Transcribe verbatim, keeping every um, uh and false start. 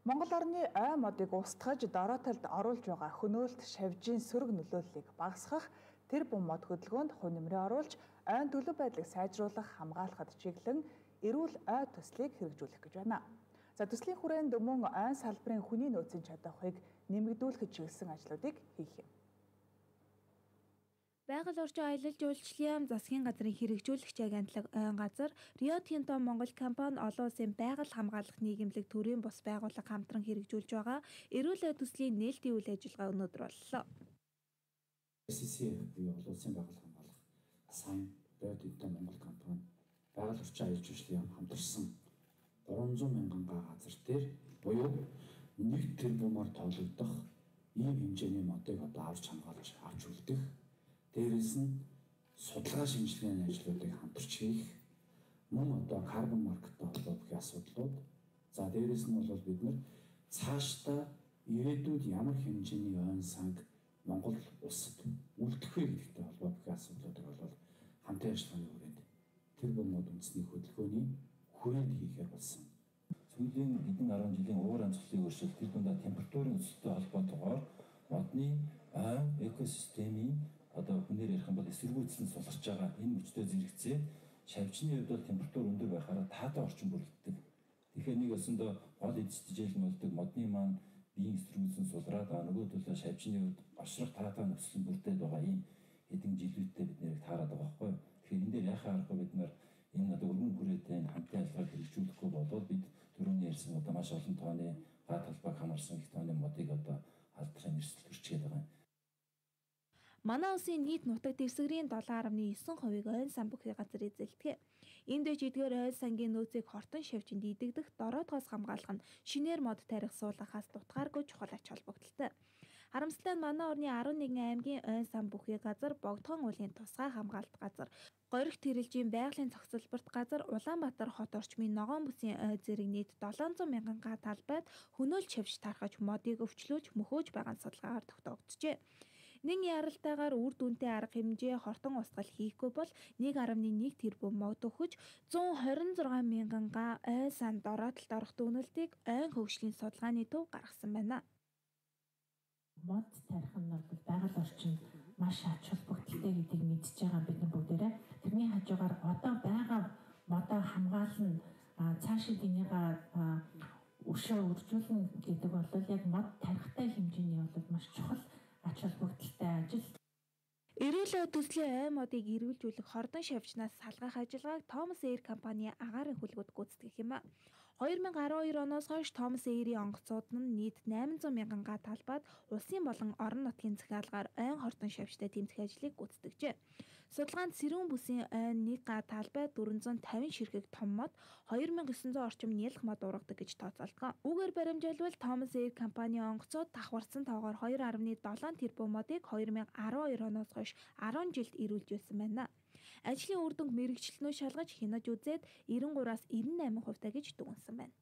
Монгол орны ой модыг устгаж дорой талд оруулж байгаа хөнөөлт шавжийн сөрөг нөлөөллийг багасгах тэр бум мод хөдөлгөөнд хувь нэмрээ оруулж ойн төлөв байдлыг сайжруулах хамгаалахад чиглэн эрүүл ой төслийг хэрэгжүүлэх гэж байна. За төслийн хүрээнд мөн ойн салбарын хүний нөөцийн чадварыг нэмэгдүүлэх чиглэсэн ажлуудыг хийх юм. Байгаль орчин аялал жуулчлалын засгийн газрын хэрэгжүүлэгч агентлаг ойн газар, Рио Тинто Монгол компани олон улсын байгаль хамгаалах нийгэмлэг төрийн бус байгууллага хамтран хэрэгжүүлж байгаа эрүүл ой төслийн нээлтийн үйл ажиллагаа өнөөдөр боллоо. эс си си буюу олон улсын байгаль хамгаалах сан Рио Тинто Монгол компани байгаль орчин аялал жуулчлалын хамтарсан гурван зуун мянган га газар дээр буюу нэг тэрбумаар тоологдох ийм хэмжээний модыг одоо авч хамгаалж авч үлдэх, дээрээс нь судалгаа шинжилгээний ажлуудыг хамтарч хийх, мөн одоо карбон маркеттай холбоотой асуудлууд, за дээрээс нь бол бид нар цаашдаа ирээдүйд ямар хэмжээний ойн санг Монгол улсад үлдэх вэ гэдэгтэй холбоотой асуудлуудыг бол хамтын ажиллагааны хүрээнд тэр бомод үндэсний хөдөлгөөний хүрээнд хийхээр болсон. Сүүлийн хэдэн арван жилийн уур амьсгалын өөрчлөлт тэр дундаа температурын өсөлттэй холбоотойгоор модны ойн экосистемийн одоо хүнээр ярих юм бол эсэргүүцэн суларч байгаа энэ мөчтөө зэрэгцээ шавжны хувьд бол температур өндөр байхаараа таатай орчин бүрддэг. Тэгэхээр нэг өсөндөө гол эзэжээл нь болдог модны маань биеийн эсэргүүцэн сулраад байгаа, нөгөө төлөө шавжны хувьд очрох таатай нөхцөл бүрдээд байгаа ийм хэдэн жилүүдтэй бид нэрийг таарад байгаа байхгүй. Тэгэхээр энэ дээр яхаа аргагүй бид нар энэ одоо өргөн хүрээтэй энэ хамтын ажиллагааг хэрэгжүүлэхгүй болоод бид түрүүний ярьсан одоо маш олон тооны га талбайг хамаарсан их тооны модыг одоо алдрын эрсдэл төрчгээд байгаа юм. Манай улсын нийт нутаг дэвсгэрийн долоон гаруй девять хувийг ойн сан бүхий газар эзэлдэг. Энд дэвч эдгээр ойн сангийн нөөцийг хортон шавжинд идэгдэх дороотоос хамгаалах нь шинээр мод тарих суулгахаас дутгааргүй чухал ач холбогдолтой. Харамсалтай нь манай орны арван нэгэн аймгийн ойн сан бүхий газар, Богдхон уулын тусгай хамгаалалт газар, Горих тэрэлжийн байгалийн цогцлборт газар, Улаанбаатар хот орчмын ногоон бүсийн ой зэрэг нийт долоон зуун мянган га талбайд хөнөөлт шавж тархаж модыг өвчлөөж мөхөөж байгаа судалгаагаар тогтоогджээ. Нэг яралтайгаар үр дүнтэй арга хэмжээ хортон устгал хийхгүй бол нэг гаруй нэг тэрбум мод өгч зуун хорин зургаан мянган га ой сан дороотолд орох дүгнэлтийг ойн хөгжлийн судалгааны төв гаргасан байна. Мод тарих нь бол байгаль орчинд маш ач холбогдолтой гэдгийг мэдж байгаа бид нар бүгдээрээ тэрний хажуугаар одоо байгаа модоо хамгаална, цаашид энийг өшөө үржүүлнэ гэдэг бол яг мод тарихтай хэмжээний бол маш чухал ач холбогдолтой ажил. Эрүүл ой төслийн ой модыг эрүүлжүүлэх хордон шавжнаас салгах ажиллагааг Томас Эйр компани агаарын хүлгүүд гүйцэтгэх юм а. две тысячи двадцать two оноос хойш Томас Эйрийн онгоцууд нь нийт восемь сотен мянган га талбайд улсын болон орон нутгийн захиалгаар ойн хордон шавжтай тэмцэх ажлыг гүйцэтгэжээ. Судалгаанд Сэрүүн бүсийн ойн нэг га талбайд дөрвөн зуун тавин ширхэг том мод two thousand nine hundred орчим нялх мод ургадаг гэж тооцоолдог. Үүгээр баримжаалбал Томас Эйр компани онгоцууд давхарсан тоогоор two point seven тэрбум модыг two thousand twelve оноос хойш ten жилд эрүүлжүүлсэн байна. Ажлын үр дүнг мэргэжилтнөө шалгаж хянаж үзээд ninety-three-аас ninety-eight хувьтай гэж дүгнсэн байна.